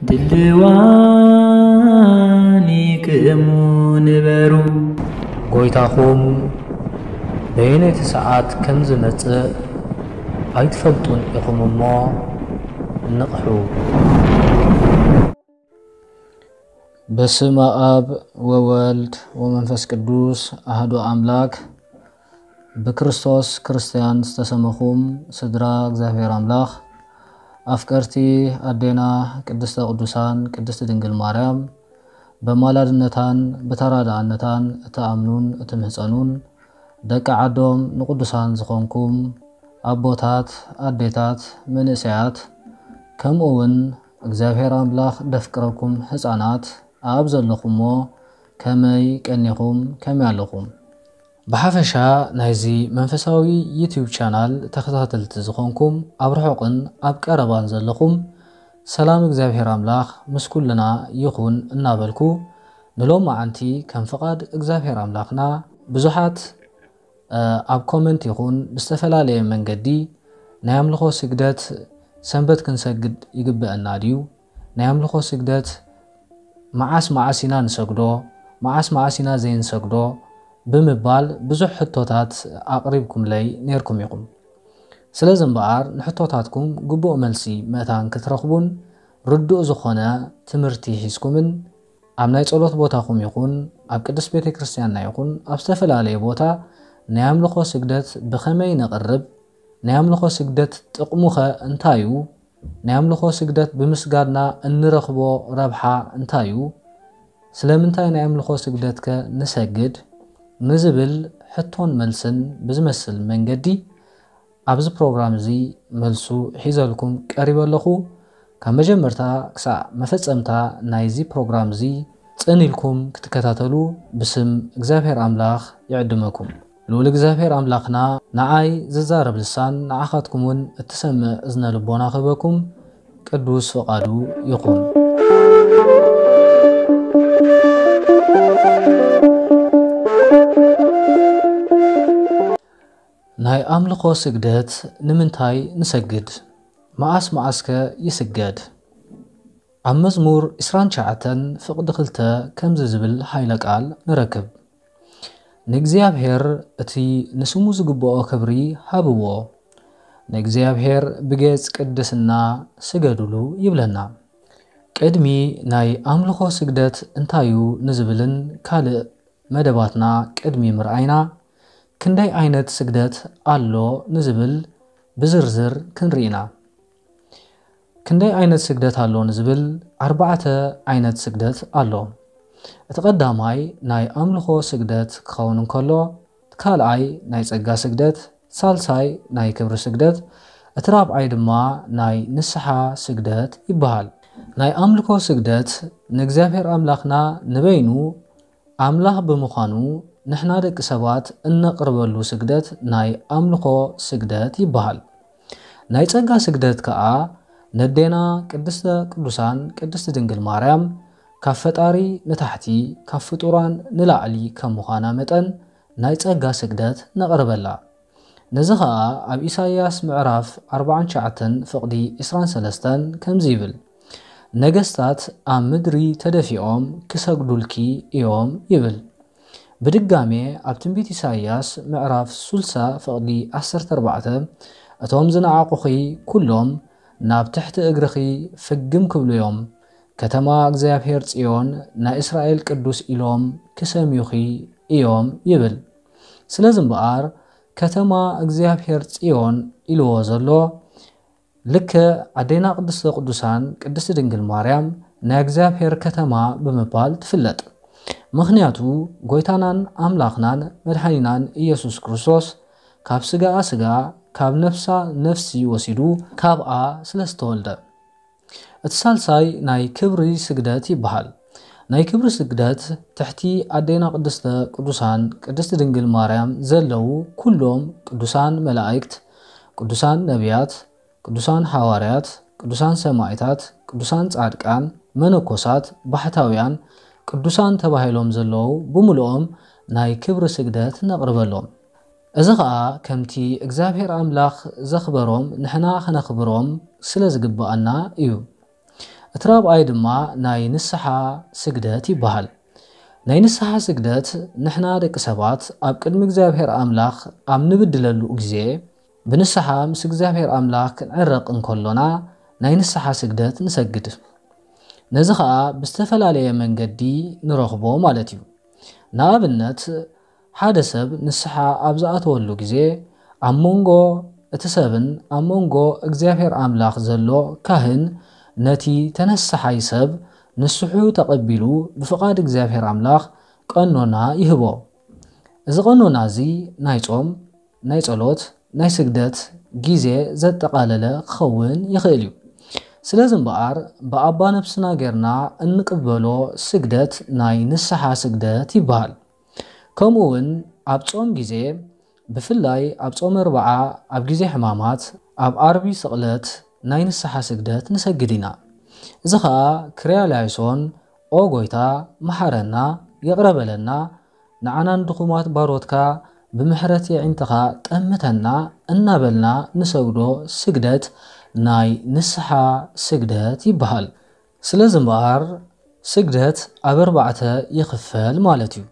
ድልዋን ይክእሙ ንበሩ። ጎይታኹም በየነይቲ ሰዓት ከም ዝመጽእ ኣይትፈልጡን ኢኹም እሞ ንቕሑ። በስመ አብ ወወልድ ወመንፈስ ቅዱስ አህዱ አምላክ። ብክርስቶስ ክርስቲያን ዝተሰመኹም ስድራ እግዚኣብሔር ኣምላኽ፣ ኣፍቀርቲ ኣዴና ቅድስተ ቅዱሳን ቅድስቲ ድንግል ማርያም፣ በማላድነታን ብተራዳእነታን እትኣምኑን እትምህጸኑን፣ ደቂ ዓዶም ንቅዱሳን ዝኾንኩም ኣቦታት፣ ኣዴታት፣ መንእሰያት፣ ከምኡ እውን እግዚኣብሔር ኣምላኽ ደፍቅረኩም ህጻናት ኣብ ዘለኹሞ ከመይ ቀኒኹም፣ ከመይ ኣለኹም? ብሓፈሻ ናይዚ መንፈሳዊ ዩቲዩብ ቻናል ተኸታተልቲ ዝኾንኩም ኣብ ርሑቕን ኣብ ቀረባን ዘለኹም ሰላም እግዚኣብሔር ኣምላኽ ምስ ኩልና ይኹን እናበልኩ፣ ንሎማዓንቲ ከም ፍቓድ እግዚኣብሔር ኣምላኽና ብዙሓት ኣብ ኮመንት ይኹን ብዝተፈላለየ መንገዲ ናይ ኣምልኾ ስግደት ሰንበት ክንሰግድ ይግበአና ድዩ? ናይ ኣምልኾ ስግደት መዓስ መዓስ ኢና ንሰግዶ? መዓስ መዓስ ኢና ዘይንሰግዶ? ብምባል ብዙሕ ሕቶታት ኣቕሪብኩምለይ ነይርኩም ኢኹም። ስለዚ እምበኣር ንሕቶታትኩም ግቡእ መልሲ መእታን ክትረኽቡን ርዱእ ዝኾነ ትምህርቲ ሒዝኩምን ኣብ ናይ ጸሎት ቦታኹም ይኹን ኣብ ቅድስት ቤተ ክርስቲያንና ይኹን ኣብ ዝተፈላለየ ቦታ ናይ ኣምልኾ ስግደት ብኸመይ ነቕርብ፣ ናይ ኣምልኾ ስግደት ጥቕሙኸ እንታይ እዩ? ናይ ኣምልኾ ስግደት ብምስጋድና እንረኽቦ ረብሓ እንታይ እዩ? ስለምንታይ ናይ ኣምልኾ ስግደትከ ንሰግድ? ንዝብል ሕቶን መልስን ብዝመስል መንገዲ ኣብዚ ፕሮግራም እዚ መልሱ ሒዘልኩም ቀሪበ ኣለኹ። ካብ መጀመርታ ክሳዕ መፈጸምታ ናይዚ ፕሮግራም እዚ ጽን ኢልኩም ክትከታተሉ ብስም እግዚኣብሔር ኣምላኽ ይዕድመኩም። ልዑል እግዚኣብሔር ኣምላኽና ንዓይ ዝዛረብ ልሳን ንዓኻትኩም እውን እትሰምዕ እዝነ ልቦና ክህበኩም ቅዱስ ፍቓዱ ይኹን። ናይ ኣምልኾ ስግደት ንምንታይ ንሰግድ? መዓስ መዓስከ ይስገድ? ኣብ መዝሙር ዕስራን ትሽዓተን ፍቕዲ ክልተ ከምዚ ዝብል ኃይለ ቃል ንረክብ። ንእግዚኣብሔር እቲ ንስሙ ዝግብኦ ክብሪ ሃብዎ፣ ንእግዚኣብሔር ብጌጽ ቅድስና ስገዱሉ ይብለና። ቅድሚ ናይ ኣምልኾ ስግደት እንታዩ ንዝብልን ካልእ መደባትና ቅድሚ ምርኣይና፣ ክንደይ ዓይነት ስግደት ኣሎ ንዝብል ብዝርዝር ክንርኢ ኢና። ክንደይ ዓይነት ስግደት ኣሎ ንዝብል ኣርባዕተ ዓይነት ስግደት ኣሎ። እቲ ቀዳማይ ናይ ኣምልኾ ስግደት ክኸውን እንከሎ፣ እቲ ካልኣይ ናይ ጸጋ ስግደት፣ ሳልሳይ ናይ ክብሪ ስግደት፣ እቲ ራብዓይ ድማ ናይ ንስሓ ስግደት ይበሃል። ናይ ኣምልኮ ስግደት ንእግዚኣብሔር ኣምላኽና ንበይኑ ኣምላኽ ብምዃኑ ንሕና ደቂ ሰባት እነቕርበሉ ስግደት ናይ ኣምልኾ ስግደት ይበሃል። ናይ ጸጋ ስግደት ከኣ ነዴና ቅድስተ ቅዱሳን ቅድስቲ ድንግል ማርያም ካብ ፈጣሪ ንታሕቲ ካብ ፍጡራን ንላዕሊ ከም ምዃና መጠን ናይ ጸጋ ስግደት ነቕርበላ። ነዚ ኸኣ ኣብ ኢሳይያስ ምዕራፍ ኣርባዓን ትሽዓተን ፍቕዲ ዕስራን ሰለስተን ከምዚ ይብል፣ ነገስታት ኣብ ምድሪ ተደፊኦም ክሰግዱልኪ እዮም ይብል። ብድጋሜ ኣብ ትንቢት ኢሳይያስ ምዕራፍ ሱልሳ ፍቕዲ ዓሰርተ ኣርባዕተ፣ እቶም ዝነዓቑኺ ኩሎም ናብ ትሕቲ እግርኺ ፍግም ክብሉ እዮም፣ ከተማ እግዚኣብሔር ጽዮን ናይ እስራኤል ቅዱስ ኢሎም ክሰምዩኺ እዮም ይብል። ስለዚ እምበኣር ከተማ እግዚኣብሔር ጽዮን ኢልዎ ዘሎ ልክዕ ኣዴና ቅድስተ ቅዱሳን ቅድስቲ ድንግል ማርያም ናይ እግዚኣብሔር ከተማ ብምባል ትፍለጥ። ምኽንያቱ ጎይታናን ኣምላኽናን መድሓኒናን ኢየሱስ ክርስቶስ ካብ ስጋኣ ስጋ ካብ ነፍሳ ነፍሲ ወሲዱ ካብኣ ስለ ዝተወልደ። እቲ ሳልሳይ ናይ ክብሪ ስግደት ይበሃል። ናይ ክብሪ ስግደት ትሕቲ ኣዴና ቅድስተ ቅዱሳን ቅድስቲ ድንግል ማርያም ዘለዉ ኩሎም ቅዱሳን መላእክት፣ ቅዱሳን ነቢያት፣ ቅዱሳን ሓዋርያት፣ ቅዱሳን ሰማዕታት፣ ቅዱሳን ጻድቃን፣ መነኮሳት፣ ባሕታውያን፣ ቅዱሳን ተባሂሎም ዘለዉ ብምልኦም ናይ ክብሪ ስግደት ነቕርበሎም። እዚ ኸኣ ከምቲ እግዚኣብሔር ኣምላኽ ዘኽበሮም ንሕና ኸነኽብሮም ስለ ዝግብኣና እዩ። እቲ ራብዓይ ድማ ናይ ንስሓ ስግደት ይበሃል። ናይ ንስሓ ስግደት ንሕና ደቂ ሰባት ኣብ ቅድሚ እግዚኣብሔር ኣምላኽ ኣብ ንብድለሉ ግዜ፣ ብንስሓ ምስ እግዚኣብሔር ኣምላኽ ክንዕረቕ እንከሎና ናይ ንስሓ ስግደት ንሰግድ። ነዚ ኸኣ ብዝተፈላለየ መንገዲ ንረኽቦ ማለት እዩ። ንኣብነት፣ ሓደ ሰብ ንስሓ ኣብ ዝኣተወሉ ግዜ፣ ኣብ መንጎ እቲ ሰብን ኣብ መንጎ እግዚኣብሔር ኣምላኽ ዘሎ ካህን ነቲ ተነሳሓይ ሰብ ንስሑ ተቐቢሉ ብፍቓድ እግዚኣብሔር ኣምላኽ ቀኖና ይህቦ። እዚ ቀኖና እዚ ናይ ጾም፣ ናይ ጸሎት፣ ናይ ስግደት ግዜ ዘጠቓለለ ክኸውን ይኽእል እዩ። ስለዚ እምበኣር ብኣባ ነብስና ጌርና እንቅበሎ ስግደት ናይ ንስሓ ስግደት ይበሃል። ከምኡ እውን ኣብ ጾም ግዜ፣ ብፍላይ ኣብ ጾመ ኣርብዓ፣ ኣብ ግዜ ሕማማት፣ ኣብ ዓርቢ ስቕለት ናይ ንስሓ ስግደት ንሰግድ ኢና። እዚ ኸኣ ክርያ ላይሶን፣ ኦ ጎይታ፣ መሓረና፣ ይቕረ በለና፣ ንዓናን ድኹማት ባሮትካ ብምሕረት የዒንትኻ ጠምተና እናበልና ንሰግዶ ስግደት ናይ ንስሓ ስግደት ይበሃል። ስለዚ እምበኣር ስግደት ኣብ ኣርባዕተ ይኽፈል ማለት እዩ።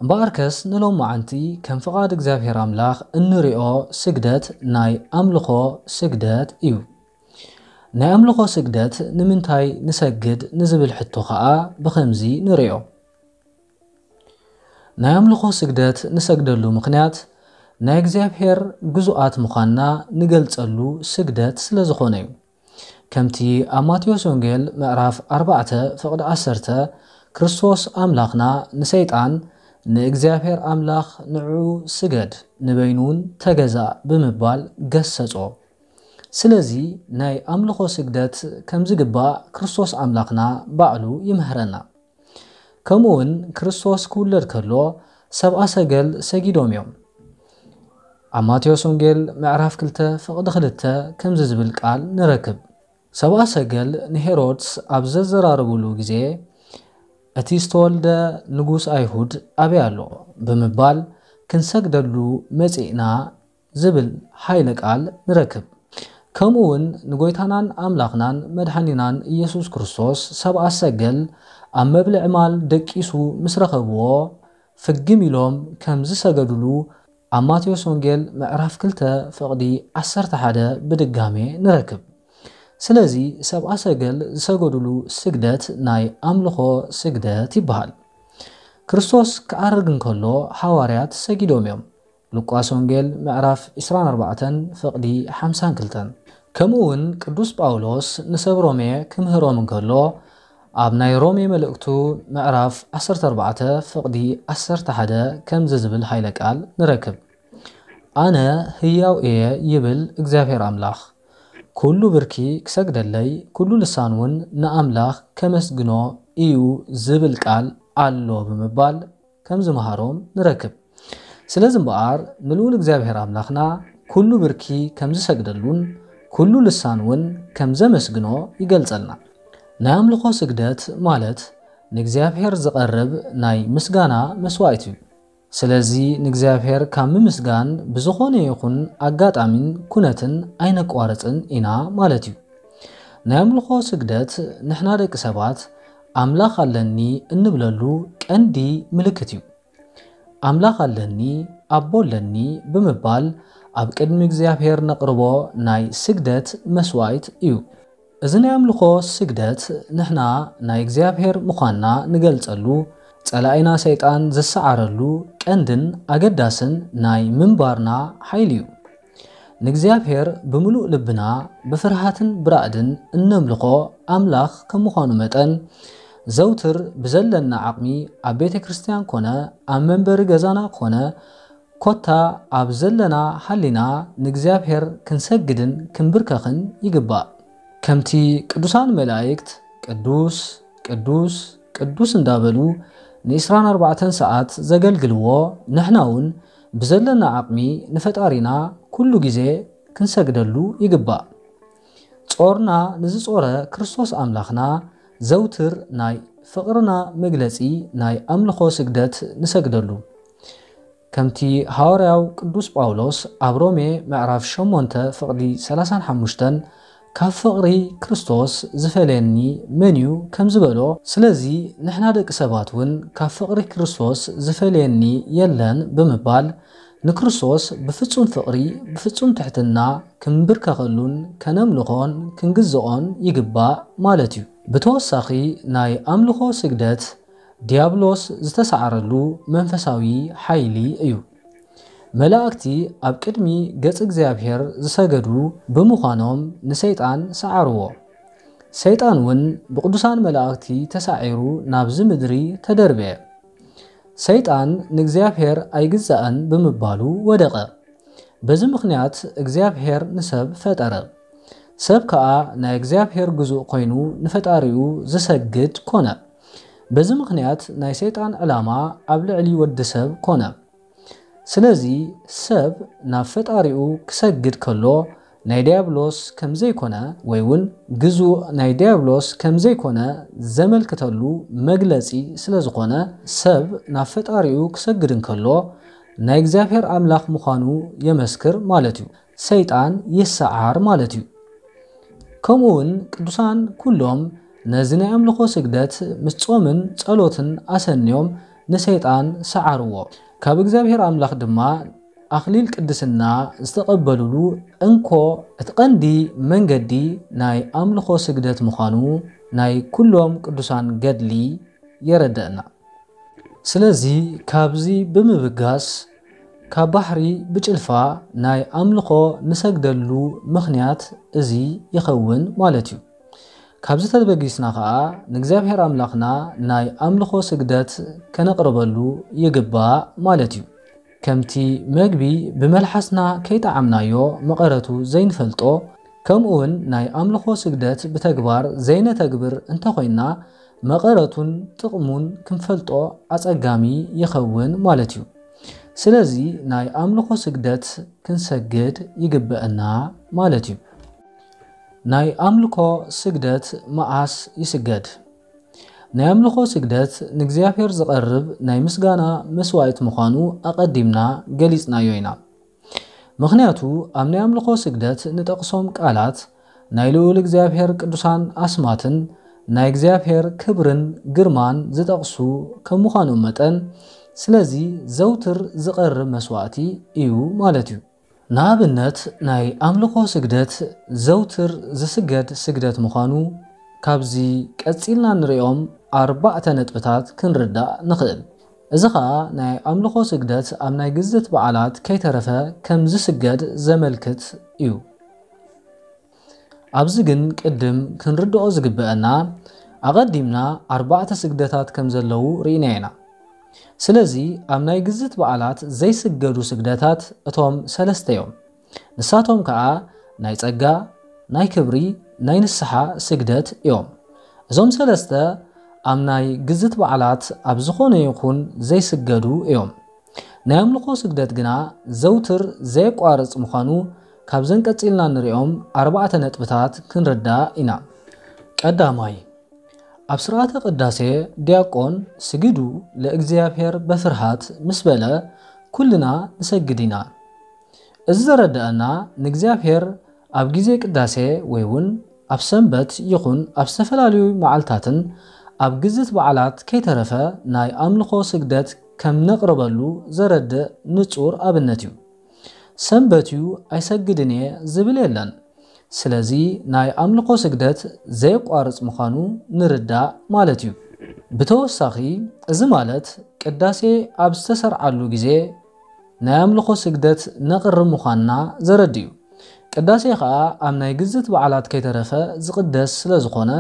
እምበኣርከስ ንሎማዓንቲ ከም ፍቓድ እግዚኣብሔር ኣምላኽ እንሪኦ ስግደት ናይ ኣምልኾ ስግደት እዩ። ናይ ኣምልኾ ስግደት ንምንታይ ንሰግድ ንዝብል ሕቶ ኸኣ ብኸምዚ ንሪኦ። ናይ ኣምልኾ ስግደት ንሰግደሉ ምኽንያት ናይ እግዚኣብሔር ግዙኣት ምዃንና ንገልጸሉ ስግደት ስለ ዝኾነ እዩ። ከምቲ ኣብ ማቴዎስ ወንጌል ምዕራፍ ኣርባዕተ ፍቕዲ ዓሰርተ ክርስቶስ ኣምላኽና ንሰይጣን ንእግዚኣብሔር ኣምላኽ ንዕኡ ስገድ ንበይኑ እውን ተገዛእ ብምባል ገሰጾ። ስለዚ ናይ ኣምልኾ ስግደት ከም ዝግባእ ክርስቶስ ኣምላኽና ባዕሉ ይምህረና። ከምኡ እውን ክርስቶስ ክውለድ ከሎ ሰብኣ ሰገል ሰጊዶም እዮም። ኣብ ማቴዎስ ወንጌል ምዕራፍ ክልተ ፍቕዲ ክልተ ከምዚ ዝብል ቃል ንረክብ። ሰብኣ ሰገል ንሄሮድስ ኣብ ዘዘራረቡሉ ግዜ እቲ ዝተወልደ ንጉስ ኣይሁድ ኣበይ ኣሎ ብምባል ክንሰግደሉ መጺእና ዝብል ሓይለ ቃል ንረክብ። ከምኡ እውን ንጎይታናን ኣምላኽናን መድሓኒናን ኢየሱስ ክርስቶስ ሰብኣ ሰገል ኣብ መብልዒ ማል ደቂሱ ምስ ረኸብዎ ፍግም ኢሎም ከም ዝሰገዱሉ ኣብ ማቴዎስ ወንጌል ምዕራፍ ክልተ ፍቕዲ ዓሰርተ ሓደ ብድጋሜ ንረክብ። ስለዚ ሰብኣ ሰገል ዝሰገዱሉ ስግደት ናይ ኣምልኾ ስግደት ይበሃል። ክርስቶስ ክኣርግ እንከሎ ሃዋርያት ሰጊዶም እዮም። ሉቃስ ወንጌል ምዕራፍ ዕስራን ኣርባዕተን ፍቕዲ ሓምሳን ክልተን። ከምኡ እውን ቅዱስ ጳውሎስ ንሰብ ሮሜ ክምህሮም እንከሎ ኣብ ናይ ሮሜ መልእክቱ ምዕራፍ ዓሰርተ ኣርባዕተ ፍቕዲ ዓሰርተ ሓደ ከምዚ ዝብል ሓይለ ቃል ንረክብ። ኣነ ህያው እየ ይብል እግዚኣብሔር ኣምላኽ። ኩሉ ብርኪ ክሰግደለይ፣ ኩሉ ልሳን እውን ንኣምላኽ ከመስግኖ እዩ ዝብል ቃል ኣሎ ብምባል ከም ዝመሃሮም ንረክብ። ስለዚ እምበኣር ንልኡል እግዚኣብሔር ኣምላኽና ኩሉ ብርኪ ከም ዝሰግደሉን ኩሉ ልሳን እውን ከም ዘመስግኖ ይገልጸልና። ናይ ኣምልኾ ስግደት ማለት ንእግዚኣብሔር ዝቐርብ ናይ ምስጋና መስዋእቲ እዩ። ስለዚ ንእግዚኣብሔር ካብ ምምስጋን ብዝኾነ ይኹን ኣጋጣሚን ኩነትን ኣይነቋርጽን ኢና ማለት እዩ። ናይ ኣምልኾ ስግደት ንሕና ደቂ ሰባት ኣምላኽ ኣለኒ እንብለሉ ቀንዲ ምልክት እዩ። ኣምላኽ ኣለኒ፣ ኣቦ ኣለኒ ብምባል ኣብ ቅድሚ እግዚኣብሔር ነቕርቦ ናይ ስግደት መስዋእት እዩ። እዚ ናይ ኣምልኾ ስግደት ንሕና ናይ እግዚኣብሔር ምዃንና ንገልጸሉ፣ ጸላኢና ሰይጣን ዝሰዓረሉ ቀንድን ኣገዳስን ናይ ምንባርና ሓይሊ እዩ። ንእግዚኣብሔር ብምሉእ ልብና ብፍርሃትን ብራዕድን እነምልኾ ኣምላኽ ከም ምዃኑ መጠን፣ ዘውትር ብዘለና ዓቕሚ ኣብ ቤተ ክርስቲያን ኮነ ኣብ መንበሪ ገዛና ኮነ ኮታ ኣብ ዘለና ሃሊና ንእግዚኣብሔር ክንሰግድን ክንብርከኽን ይግባእ። ከምቲ ቅዱሳን መላእክት ቅዱስ ቅዱስ ቅዱስ እንዳበሉ ንዒስራን ኣርባዕተን ሰዓት ዘገልግልዎ፣ ንሕና እውን ብዘለና ዓቕሚ ንፈጣሪና ኩሉ ግዜ ክንሰግደሉ ይግባእ። ጾርና ንዝጾረ ክርስቶስ ኣምላኽና ዘውትር ናይ ፍቕርና መግለጺ ናይ ኣምልኾ ስግደት ንሰግደሉ። ከምቲ ሃዋርያው ቅዱስ ጳውሎስ ኣብ ሮሜ ምዕራፍ ሸሞንተ ፍቕዲ ሰላሳን ሓሙሽተን ካብ ፍቕሪ ክርስቶስ ዝፈልየኒ መን እዩ ከም ዝበሎ፣ ስለዚ ንሕና ደቂ ሰባት እውን ካብ ፍቕሪ ክርስቶስ ዝፈልየኒ የለን ብምባል ንክርስቶስ ብፍጹም ፍቕሪ ብፍጹም ትሕትና ክንብርከኸሉን ከነምልኾን ክንግዝኦን ይግባእ ማለት እዩ። ብተወሳኺ ናይ ኣምልኾ ስግደት ዲያብሎስ ዝተሳዕረሉ መንፈሳዊ ሓይሊ እዩ። መላእክቲ ኣብ ቅድሚ ገጽ እግዚኣብሔር ዝሰገዱ ብምዃኖም ንሰይጣን ሰዓርዎ። ሰይጣን እውን ብቅዱሳን መላእክቲ ተሳዒሩ ናብዚ ምድሪ ተደርበየ። ሰይጣን ንእግዚኣብሔር ኣይግዛእን ብምባሉ ወደቐ። በዚ ምኽንያት እግዚኣብሔር ንሰብ ፈጠረ። ሰብ ከኣ ናይ እግዚኣብሔር ግዙእ ኮይኑ ንፈጣሪኡ ዝሰግድ ኮነ። በዚ ምኽንያት ናይ ሰይጣን ዕላማ ኣብ ልዕሊ ወዲ ሰብ ኮነ። ስለዚ ሰብ ናብ ፈጣሪኡ ክሰግድ ከሎ ናይ ዲያብሎስ ከም ዘይኮነ ወይ እውን ግዙእ ናይ ዲያብሎስ ከም ዘይኮነ ዘመልክተሉ መግለጺ ስለ ዝኾነ፣ ሰብ ናብ ፈጣሪኡ ክሰግድ እንከሎ ናይ እግዚኣብሔር ኣምላኽ ምዃኑ የመስክር ማለት እዩ። ሰይጣን ይሰዓር ማለት እዩ። ከምኡ እውን ቅዱሳን ኩሎም ነዚ ናይ ኣምልኾ ስግደት ምስ ጾምን ጸሎትን ኣሰንዮም ንሰይጣን ሰዓርዎ። ካብ እግዚኣብሔር ኣምላኽ ድማ ኣኽሊል ቅድስና ዝተቐበሉሉ እንኮ እቲ ቀንዲ መንገዲ ናይ ኣምልኾ ስግደት ምዃኑ ናይ ኩሎም ቅዱሳን ገድሊ የረድእና። ስለዚ ካብዚ ብምብጋስ ካብ ባሕሪ ብጭልፋ ናይ ኣምልኾ ንሰግደሉ ምኽንያት እዚ ይኸውን ማለት እዩ። ካብዚ ተበጊስና ኸኣ ንእግዚኣብሔር ኣምላኽና ናይ ኣምልኾ ስግደት ከነቕርበሉ ይግባእ ማለት እዩ። ከምቲ መግቢ ብመልሓስና ከይጠዓምናዮ መቐረቱ ዘይንፈልጦ፣ ከምኡ እውን ናይ ኣምልኾ ስግደት ብተግባር ዘይነተግብር እንተኾይንና መቐረቱን ጥቕሙን ክንፈልጦ ኣጸጋሚ ይኸውን ማለት እዩ። ስለዚ ናይ ኣምልኾ ስግደት ክንሰግድ ይግበአና ማለት እዩ። ናይ ኣምልኮ ስግደት መዓስ ይስገድ? ናይ ኣምልኾ ስግደት ንእግዚኣብሔር ዝቐርብ ናይ ምስጋና መስዋዕት ምዃኑ ኣቐዲምና ገሊጽናዮ ኢና። ምኽንያቱ ኣብ ናይ ኣምልኾ ስግደት ንጠቕሶም ቃላት ናይ ልዑል እግዚኣብሔር ቅዱሳን ኣስማትን ናይ እግዚኣብሔር ክብርን ግርማን ዝጠቕሱ ከም ምዃኖም መጠን፣ ስለዚ ዘውትር ዝቐርብ መስዋዕቲ እዩ ማለት እዩ። ንኣብነት ናይ ኣምልኾ ስግደት ዘውትር ዝስገድ ስግደት ምዃኑ ካብዚ ቀጺልና ንሪኦም ኣርባዕተ ነጥብታት ክንርዳእ ንኽእል። እዚ ኸኣ ናይ ኣምልኾ ስግደት ኣብ ናይ ግዝት በዓላት ከይተረፈ ከም ዝስገድ ዘመልክት እዩ። ኣብዚ ግን ቅድም ክንርድኦ ዝግበአና ኣቐዲምና ኣርባዕተ ስግደታት ከም ዘለዉ ርኢና ኢና። ስለዚ ኣብ ናይ ግዝት በዓላት ዘይስገዱ ስግደታት እቶም ሰለስተ እዮም። ንሳቶም ከኣ ናይ ጸጋ፣ ናይ ክብሪ፣ ናይ ንስሓ ስግደት እዮም። እዞም ሰለስተ ኣብ ናይ ግዝት በዓላት ኣብ ዝኾነ ይኹን ዘይስገዱ እዮም። ናይ ኣምልኾ ስግደት ግና ዘውትር ዘየቋርጽ ምዃኑ ካብዘን ቀጺልና ንሪኦም ኣርባዕተ ነጥብታት ክንርዳእ ኢና። ቀዳማይ፣ ኣብ ስርዓተ ቅዳሴ ዲያቆን ስግዱ ለእግዚኣብሔር በፍርሃት ምስ በለ ኩልና ንሰግድ ኢና። እዚ ዘረድኣና ንእግዚኣብሔር ኣብ ግዜ ቅዳሴ ወይ እውን ኣብ ሰንበት ይኹን ኣብ ዝተፈላለዩ መዓልታትን ኣብ ግዝት በዓላት ከይተረፈ ናይ ኣምልኾ ስግደት ከም ነቕርበሉ ዘረድእ ንጹር ኣብነት እዩ። ሰንበት እዩ ኣይሰግድን እየ ዝብል የለን። ስለዚ ናይ ኣምልኾ ስግደት ዘየቋርጽ ምዃኑ ንርዳእ ማለት እዩ። ብተወሳኺ እዚ ማለት ቅዳሴ ኣብ ዝተሰርዓሉ ግዜ ናይ ኣምልኾ ስግደት ነቕርብ ምዃንና ዘረድእ እዩ። ቅዳሴ ኸኣ ኣብ ናይ ግዝት በዓላት ከይተረፈ ዝቕደስ ስለ ዝኾነ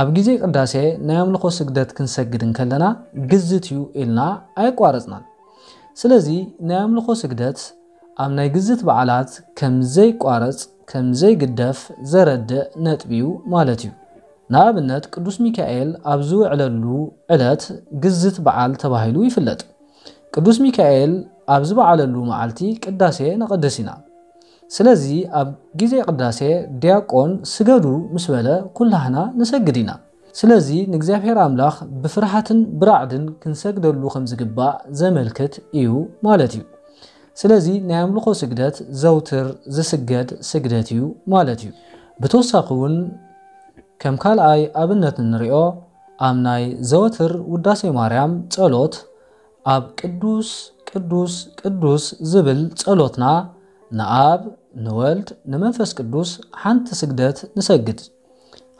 ኣብ ግዜ ቅዳሴ ናይ ኣምልኾ ስግደት ክንሰግድ እንከለና ግዝት እዩ ኢልና ኣየቋረጽናን። ስለዚ ናይ ኣምልኾ ስግደት ኣብ ናይ ግዝት በዓላት ከም ዘይቋረጽ ከም ዘይግደፍ ዘረድእ ነጥቢ እዩ ማለት እዩ። ንኣብነት ቅዱስ ሚካኤል ኣብ ዝውዕለሉ ዕለት ግዝት በዓል ተባሂሉ ይፍለጥ። ቅዱስ ሚካኤል ኣብ ዝበዓለሉ መዓልቲ ቅዳሴ ነቐድስ ኢና። ስለዚ ኣብ ግዜ ቅዳሴ ዲያቆን ስገዱ ምስ በለ ኩላህና ንሰግድ ኢና። ስለዚ ንእግዚኣብሔር ኣምላኽ ብፍርሃትን ብራዕድን ክንሰግደሉ ከም ዝግባእ ዘመልክት እዩ ማለት እዩ። ስለዚ ናይ ኣምልኾ ስግደት ዘውትር ዝስገድ ስግደት እዩ ማለት እዩ። ብተወሳኺ እውን ከም ካልኣይ ኣብነት እንሪኦ ኣብ ናይ ዘወትር ውዳሴ ማርያም ጸሎት ኣብ ቅዱስ ቅዱስ ቅዱስ ዝብል ጸሎትና ንኣብ ንወልድ ንመንፈስ ቅዱስ ሓንቲ ስግደት ንሰግድ።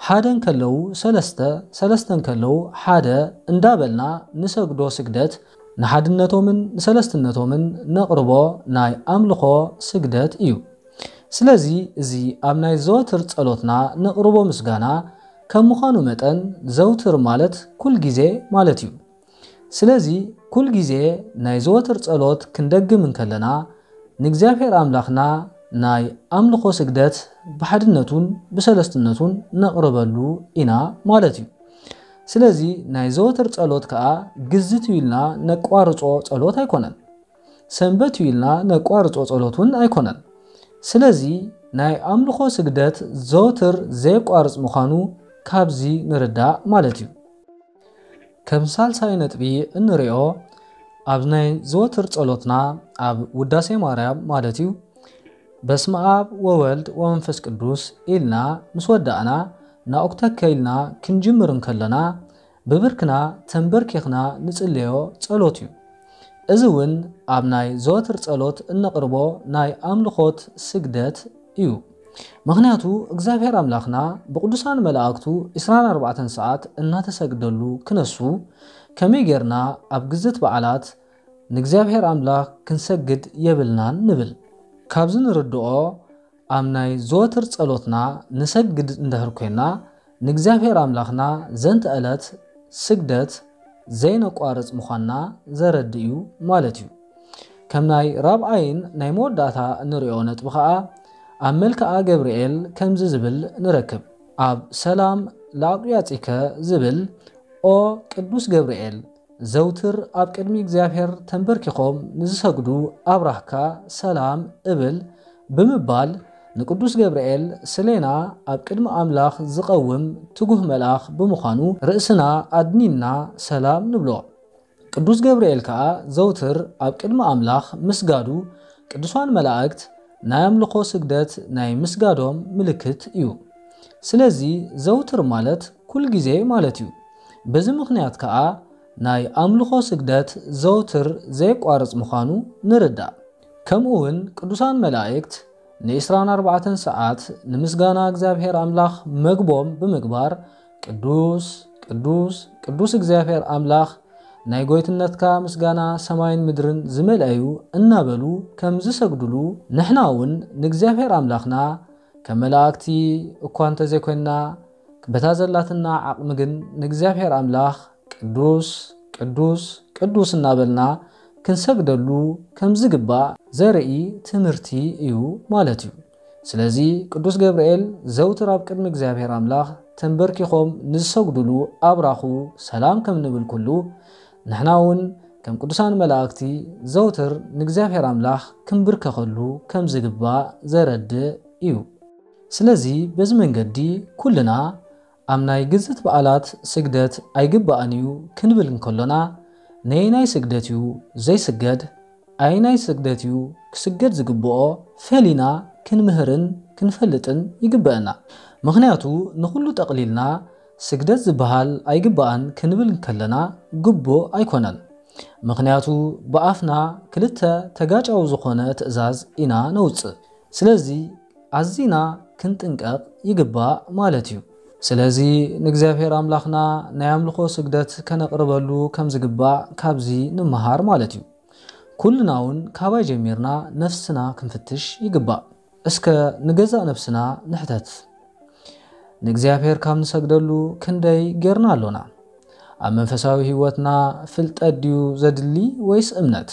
ሓደ እንከለዉ ሰለስተ፣ ሰለስተ እንከለዉ ሓደ እንዳበልና ንሰግዶ ስግደት ንሓድነቶምን ንሰለስትነቶምን ነቕርቦ ናይ ኣምልኾ ስግደት እዩ። ስለዚ እዚ ኣብ ናይ ዘወትር ጸሎትና ነቕርቦ ምስጋና ከም ምዃኑ መጠን ዘውትር ማለት ኩል ግዜ ማለት እዩ። ስለዚ ኩል ግዜ ናይ ዘወትር ጸሎት ክንደግም እንከለና ንእግዚኣብሔር ኣምላኽና ናይ ኣምልኾ ስግደት ብሓድነቱን ብሰለስትነቱን ነቕርበሉ ኢና ማለት እዩ። ስለዚ ናይ ዘወትር ጸሎት ከኣ ግዝት እዩ ኢልና ነቋርጾ ጸሎት ኣይኮነን። ሰንበት እዩ ኢልና ነቋርጾ ጸሎት እውን ኣይኮነን። ስለዚ ናይ ኣምልኾ ስግደት ዘወትር ዘየቋርጽ ምዃኑ ካብዚ ንርዳእ ማለት እዩ። ከም ሳልሳይ ነጥቢ እንሪኦ ኣብ ናይ ዘወትር ጸሎትና ኣብ ውዳሴ ማርያም ማለት እዩ በስመ ኣብ ወወልድ ወመንፈስ ቅዱስ ኢልና ምስ ወዳእና ናኡክተከ ኢልና ክንጅምር እንከለና ብብርክና ተንበርኪኽና ንጽልዮ ጸሎት እዩ። እዚ እውን ኣብ ናይ ዘወትር ጸሎት እነቕርቦ ናይ ኣምልኾት ስግደት እዩ። ምኽንያቱ እግዚኣብሔር ኣምላኽና ብቕዱሳን መላእክቱ ዕስራን ኣርባዕተን ሰዓት እናተሰግደሉ ክነሱ ከመይ ጌርና ኣብ ግዝት በዓላት ንእግዚኣብሔር ኣምላኽ ክንሰግድ የብልናን ንብል። ካብዚ ንርድኦ ኣብ ናይ ዘወትር ጸሎትና ንሰግድ እንድሕር ኮይና ንእግዚኣብሔር ኣምላኽና ዘንተ ዕለት ስግደት ዘይነቋርጽ ምዃንና ዘረድእ እዩ ማለት እዩ። ከም ናይ ራብዓይን ናይ መወዳእታ እንሪኦ ነጥቢ ኸኣ ኣብ መልክዓ ገብርኤል ከምዚ ዝብል ንረክብ። ኣብ ሰላም ለአቅያጺከ ዝብል ኦ ቅዱስ ገብርኤል ዘውትር ኣብ ቅድሚ እግዚኣብሔር ተንበርኪኾም ንዝሰግዱ ኣብራህካ ሰላም እብል ብምባል ንቅዱስ ገብርኤል ስሌና ኣብ ቅድሚ ኣምላኽ ዝቐውም ትጉህ መልኣኽ ብምዃኑ ርእስና ኣድኒንና ሰላም ንብሎ። ቅዱስ ገብርኤል ከኣ ዘውትር ኣብ ቅድሚ ኣምላኽ ምስጋዱ ቅዱሳን መላእክት ናይ ኣምልኾ ስግደት ናይ ምስጋዶም ምልክት እዩ። ስለዚ ዘውትር ማለት ኩል ግዜ ማለት እዩ። በዚ ምኽንያት ከኣ ናይ ኣምልኾ ስግደት ዘውትር ዘየቋርጽ ምዃኑ ንርዳእ። ከምኡ እውን ቅዱሳን መላእክት ንዒስራን ኣርባዕተን ሰዓት ንምስጋና እግዚኣብሔር ኣምላኽ መግቦም ብምግባር ቅዱስ ቅዱስ ቅዱስ እግዚኣብሔር ኣምላኽ ናይ ጎይትነትካ ምስጋና ሰማይን ምድርን ዝመልአዩ እናበሉ ከም ዝሰግዱሉ ንሕና እውን ንእግዚኣብሔር ኣምላኽና ከም መላእክቲ እኳ እንተዘይኮንና በታ ዘላትና ዓቕሚ ግን ንእግዚኣብሔር ኣምላኽ ቅዱስ ቅዱስ ቅዱስ እናበልና ክንሰግደሉ ከም ዝግባእ ዘርኢ ትምህርቲ እዩ ማለት እዩ። ስለዚ ቅዱስ ገብርኤል ዘውትር ኣብ ቅድሚ እግዚኣብሔር ኣምላኽ ተንበርኪኾም ንዝሰግዱሉ ኣብራኹ ሰላም ከም ንብል ኩሉ ንሕና እውን ከም ቅዱሳን መላእክቲ ዘውትር ንእግዚኣብሔር ኣምላኽ ክንብርከኸሉ ከም ዝግባእ ዘረድእ እዩ። ስለዚ በዚ መንገዲ ኩልና ኣብ ናይ ግዝት በዓላት ስግደት ኣይግባእን እዩ ክንብል እንከሎና ነየናይ ስግደት እዩ ዘይስገድ፣ ኣየናይ ስግደት እዩ ክስገድ ዝግብኦ ፈሊና ክንምህርን ክንፈልጥን ይግበአና። ምኽንያቱ ንኹሉ ጠቕሊልና ስግደት ዝበሃል ኣይግባእን ክንብል እንከለና ግቡእ ኣይኮነን። ምኽንያቱ ብኣፍና ክልተ ተጋጫዊ ዝኾነ ትእዛዝ ኢና ነውጽእ። ስለዚ ኣዚና ክንጥንቀቕ ይግባእ ማለት እዩ። ስለዚ ንእግዚኣብሔር ኣምላኽና ናይ ኣምልኾ ስግደት ከነቕርበሉ ከም ዝግባእ ካብዚ ንምሃር ማለት እዩ። ኩልና እውን ካባይ ጀሚርና ነፍስና ክንፍትሽ ይግባእ። እስከ ንገዛእ ነፍስና ንሕተት። ንእግዚኣብሔር ካብ ንሰግደሉ ክንደይ ጌርና ኣሎና? ኣብ መንፈሳዊ ህይወትና ፍልጠት ድዩ ዘድሊ ወይስ እምነት?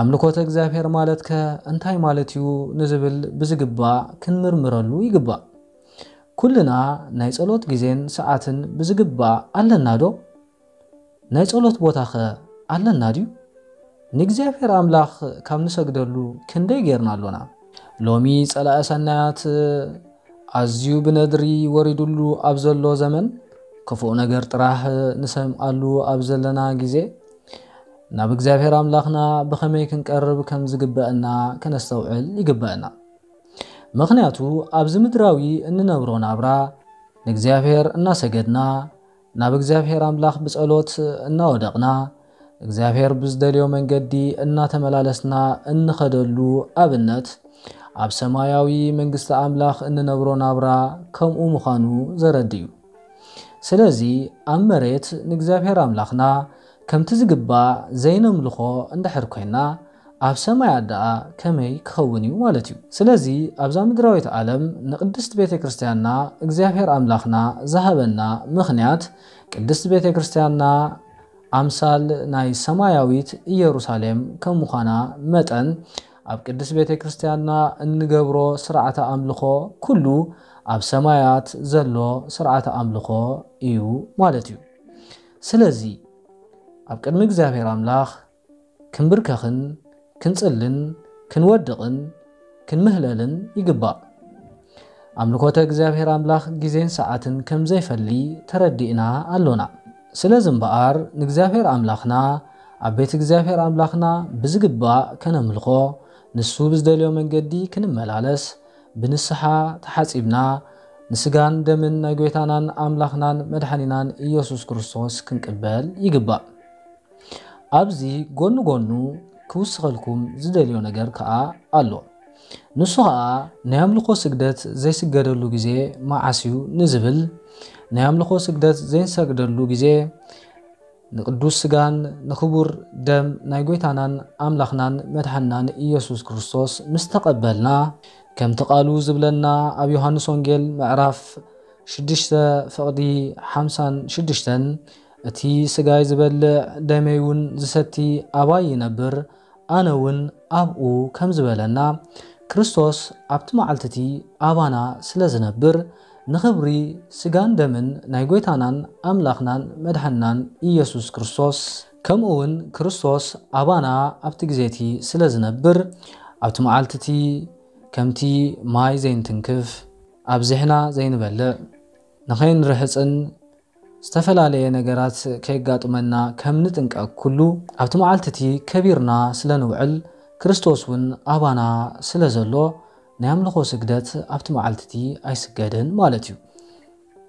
ኣምልኮተ እግዚኣብሔር ማለትከ እንታይ ማለት እዩ ንዝብል ብዝግባእ ክንምርምረሉ ይግባእ። ኩልና ናይ ጸሎት ግዜን ሰዓትን ብዝግባእ ኣለና ዶ? ናይ ጸሎት ቦታኸ ኣለና ድዩ? ንእግዚኣብሔር ኣምላኽ ካብ ንሰግደሉ ክንደይ ጌርና ኣሎና? ሎሚ ጸላኢ ሰናያት ኣዝዩ ብነድሪ ወሪዱሉ ኣብ ዘሎ ዘመን ክፉእ ነገር ጥራሕ ንሰምዓሉ ኣብ ዘለና ግዜ ናብ እግዚኣብሔር ኣምላኽና ብኸመይ ክንቀርብ ከም ዝግበአና ከነስተውዕል ይግበአና። ምኽንያቱ ኣብዚ ምድራዊ እንነብሮ ናብራ ንእግዚኣብሔር እናሰገድና፣ ናብ እግዚኣብሔር ኣምላኽ ብጸሎት እናወደቕና፣ እግዚኣብሔር ብዝደልዮ መንገዲ እናተመላለስና እንኸደሉ ኣብነት፣ ኣብ ሰማያዊ መንግስቲ ኣምላኽ እንነብሮ ናብራ ከምኡ ምዃኑ ዘረድእ እዩ። ስለዚ ኣብ መሬት ንእግዚኣብሔር ኣምላኽና ከምቲ ዝግባእ ዘይነምልኾ እንድሕር ኮይና፣ ኣብ ሰማያት ደኣ ከመይ ክኸውን እዩ ማለት እዩ። ስለዚ ኣብዛ ምድራዊት ዓለም ንቅድስት ቤተ ክርስቲያንና እግዚኣብሔር ኣምላኽና ዝሃበና ምኽንያት፣ ቅድስት ቤተ ክርስቲያንና ኣምሳል ናይ ሰማያዊት ኢየሩሳሌም ከም ምዃና መጠን፣ ኣብ ቅድስት ቤተ ክርስቲያንና እንገብሮ ስርዓተ ኣምልኾ ኩሉ ኣብ ሰማያት ዘሎ ስርዓተ ኣምልኾ እዩ ማለት እዩ። ስለዚ ኣብ ቅድሚ እግዚኣብሔር ኣምላኽ ክንብርከኽን ክንጽልን ክንወድቕን ክንምህለልን ይግባእ። ኣምልኮተ እግዚኣብሔር ኣምላኽ ግዜን ሰዓትን ከም ዘይፈሊ ተረዲእና ኣሎና። ስለዚ እምበኣር ንእግዚኣብሔር ኣምላኽና ኣብ ቤት እግዚኣብሔር ኣምላኽና ብዝግባእ ከነምልኾ፣ ንሱ ብዝደልዮ መንገዲ ክንመላለስ፣ ብንስሓ ተሓጺብና፣ ንስጋን ደምን ናይ ጐይታናን ኣምላኽናን መድሓኒናን ኢየሱስ ክርስቶስ ክንቅበል ይግባእ። ኣብዚ ጎኒ ጎኑ ክውስኸልኩም ዝደልዮ ነገር ከኣ ኣሎ። ንሱ ኸኣ ናይ ኣምልኾ ስግደት ዘይስገደሉ ግዜ መዓስ እዩ ንዝብል፣ ናይ ኣምልኾ ስግደት ዘይንሰግደሉ ግዜ ንቅዱስ ስጋን ንክቡር ደም ናይ ጐይታናን ኣምላኽናን መድሓንናን ኢየሱስ ክርስቶስ ምስ ተቐበልና፣ ከምቲ ቃሉ ዝብለና ኣብ ዮሃንስ ወንጌል ምዕራፍ ሽዱሽተ ፍቕዲ ሓምሳን ሽዱሽተን፣ "እቲ ስጋይ ዝበልዕ ደመይ እውን ዝሰቲ ኣባይ ይነብር፣ ኣነ እውን ኣብኡ" ከም ዝበለና፣ ክርስቶስ ኣብቲ መዓልቲ እቲ ኣባና ስለ ዝነብር፣ ንኽብሪ ስጋን ደምን ናይ ጐይታናን ኣምላኽናን መድሓንናን ኢየሱስ ክርስቶስ፣ ከምኡ እውን ክርስቶስ ኣባና ኣብቲ ግዜ እቲ ስለ ዝነብር፣ ኣብቲ መዓልቲ እቲ ከምቲ ማይ ዘይንትንክፍ፣ ኣብዚሕና ዘይንበልዕ፣ ንኸይንርሕጽን ዝተፈላለየ ነገራት ከየጋጥመና ከም ንጥንቀቕ ኩሉ፣ ኣብቲ መዓልቲ እቲ ከቢርና ስለ ንውዕል፣ ክርስቶስ እውን ኣባና ስለ ዘሎ፣ ናይ ኣምልኾ ስግደት ኣብቲ መዓልቲ እቲ ኣይስገድን ማለት እዩ።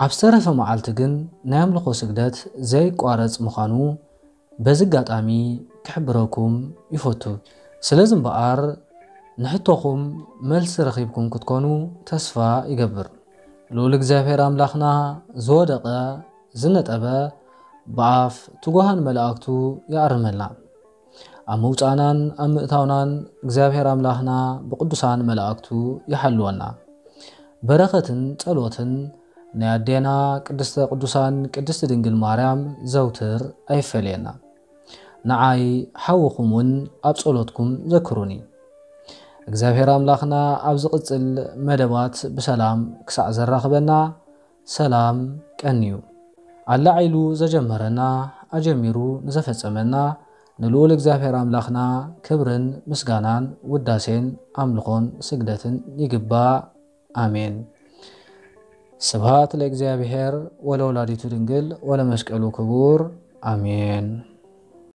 ኣብ ዝተረፈ መዓልቲ ግን ናይ ኣምልኾ ስግደት ዘይቋረጽ ምዃኑ በዚ ኣጋጣሚ ክሕብረኩም ይፈቱ። ስለዚ እምበኣር፣ ንሕቶኹም መልሲ ረኺብኩም ክትኮኑ ተስፋ ይገብር። ልኡል እግዚኣብሔር ኣምላኽና ዝወደቐ ዝነጠበ ብኣፍ ትጉሃን መላእክቱ ይኣርመልና። ኣብ ምውጻእናን ኣብ ምእታውናን እግዚኣብሔር ኣምላኽና ብቅዱሳን መላእክቱ ይሓልወና። በረኸትን ጸሎትን ናይ ኣዴና ቅድስተ ቅዱሳን ቅድስቲ ድንግል ማርያም ዘውትር ኣይፈለየና። ንዓይ ሓውኹም እውን ኣብ ጸሎትኩም ዘክሩኒ። እግዚኣብሔር ኣምላኽና ኣብ ዝቕጽል መደባት ብሰላም ክሳዕ ዘራኽበና፣ ሰላም ቀንዩ። ኣላዒሉ ዘጀመረና፣ ኣጀሚሩ ንዘፈጸመና ንልኡል እግዚኣብሔር ኣምላኽና ክብርን ምስጋናን ውዳሴን ኣምልኾን ስግደትን ይግባእ። ኣሜን። ስብሃት ለእግዚኣብሔር ወለወላዲቱ ድንግል ወለመስቀሉ ክቡር። ኣሜን።